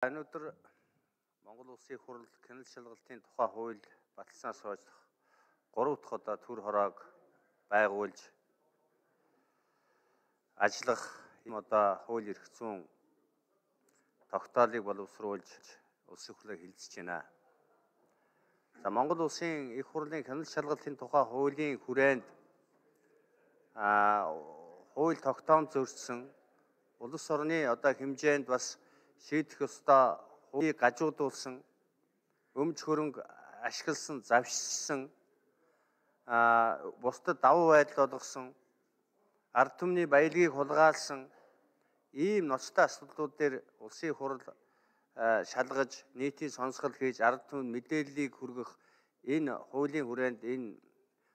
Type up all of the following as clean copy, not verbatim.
Өнөөдөр Монгол Улсын их хурл Кянал шалгалтын тухай хууль баталснаас хойш 3 дахь удаа төр хороог байгуулж ажиллах одоо хууль эрх зүйн тогтоолыг боловсруулж улсын хурлыг хилцэж байна. За Монгол Улсын их хурлын Кянал шалгалтын тухай хуулийн хүрээнд хууль тогтоом зөрчсөн улс орны одоо хэмжээнд бас шийдэх ёстой хуулийг гажуудуулсан, өмч хөрөнгө ашигласан, завшилсан, бусдад давуу байдал олгосон, ард түмний баялагийг хулгайлсан ийм ноцтой асуудлууд дээр улсын хурл шалгаж, нийтийн сонсгол хийж, ард түмэнд мэдээллийг хүргэх энэ хуулийн хүрээнд энэ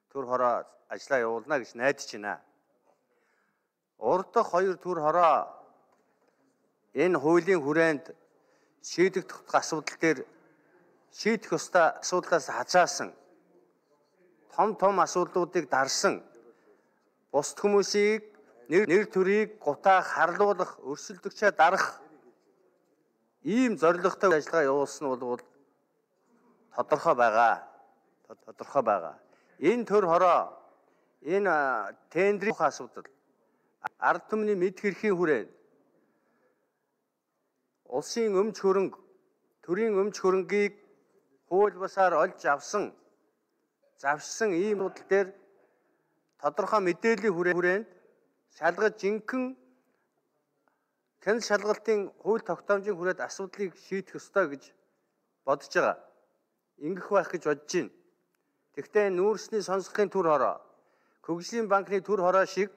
төр хороо ажиллаа явуулна гэж найдаж байна. Урд дахь 2 төр хороо энэ хуулийн хүрээнд шийдэгдэх асуудал дээр шийдэх ёстой асуудлаас хазаасан том асуудлуудыг дарсан бусд хүмүүсийг нэр төрийг гутаа харлуулах, өрсөлдөгчөө дарах ийм зорилготой ажиллагаа явуулсан нь бол тодорхой байгаа. Энэ төр хороо энэ тендерийн асуудал ард түмний мэд хэрхийн хүрээнд улсын өмч хөрөнгө, төрийн өмч хөрөнгийг хууль бусаар олж авсан, завшсан ийм асуудал дээр тодорхой мэдээллийн хүрээнд шалгаж жинхэнэ Кянал шалгалтын хууль тогтоомжийн хүрээнд асуудлыг шийдэх ёстой гэж бодож байгаа. Ингэх байх гэж бодож байна. Тэгвэл нүүрсний сонсголын төр хороо, Хөгжлийн банкны төр хороо шиг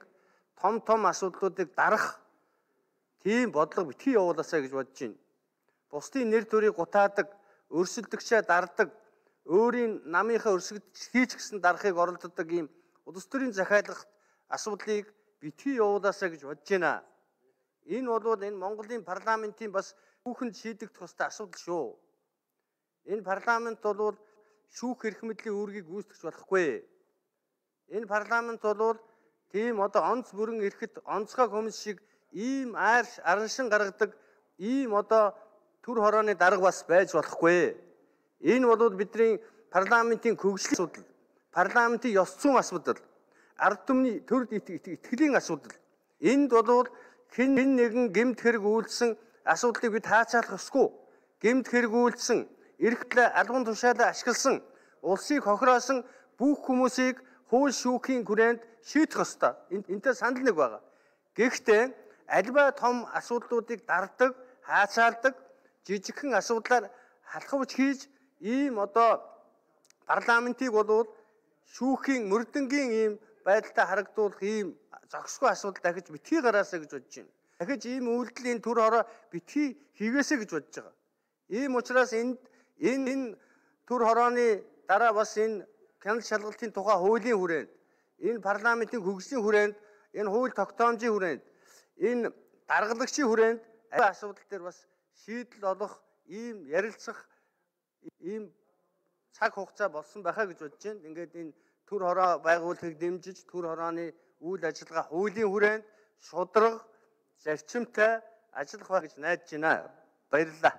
том асуудлуудыг дарах тийм бодлого битгий явуулаасаа гэж бодож байна. Бусдын нэр төрийг гутаадаг, өрсөлдөгчөө дардаг, өөрийн намынхаа өрсөлдөж гэсэн дарахыг оролддог ийм улс төрийн захиалгах асуудлыг битгий явуулаасаа гэж бодож байна. Энэ бол энэ Монголын парламентийн бас хүүхэнд шийдэгдэх ёстой асуудал шүү. Энэ парламент бол шүүх эрх мэдлийн үүргийг гүйцэтгэж болохгүй. Энэ парламент бол тийм одоо онц бүрэн эрэхэд онцгой хүмүүс шиг ийм араншин гаргадаг ийм одоо төр хорооны дарга бас байж болохгүй. Энэ бол бидний парламентийн хөгжлийн асуудал, парламентийн ёс зүйн асуудал, ард түмний төрд итгэлийн асуудал. Энд бол хэн нэгэн гэмт хэрэг үйлдсэн асуудлыг бид хаацаалах ёсгүй. Гэмт хэрэг үйлдсэн, эрхтлээ албан тушаалаа ашигласан, улсыг хохироосон бүх хүмүүсийг хууль шүүхийн хүрээнд шийдэх ёстой. Энтэй санал нэг байгаа. Гэхдээ альва том асуудлуудыг дардаг, хаацаалдаг, жижигхэн асуудлаар халахвч хийж ийм одоо парламентыг бол шүүхийн мөрдөнгийн ийм байдалтай харагдуулах ийм зохисгүй асуудал дахиж битгий гараасаа гэж бодож байна. Дахиж ийм үйлдэлийн төр хороо битгий хийгээсэй гэж бодож байгаа. Ийм учраас энэ төр хорооны дараа бас энэ Кянал шалгалтын тухай хуулийн хүрээнд, энэ парламентийн хөгжлийн хүрээнд, энэ хууль тогтоомжийн хүрээнд, энэ даргалагчийн хүрээнд асуудал дээр бас шийдэл олох ийм ярилцах ийм цаг хугацаа болсон байхаа гэж бодож байна. Ингээд энэ төр хороо байгуулахыг дэмжиж, төр хорооны үйл ажиллагаа хуулийн хүрээнд шударга, зарчимтай ажиллах байх гэж найдаж байна. Баярлалаа.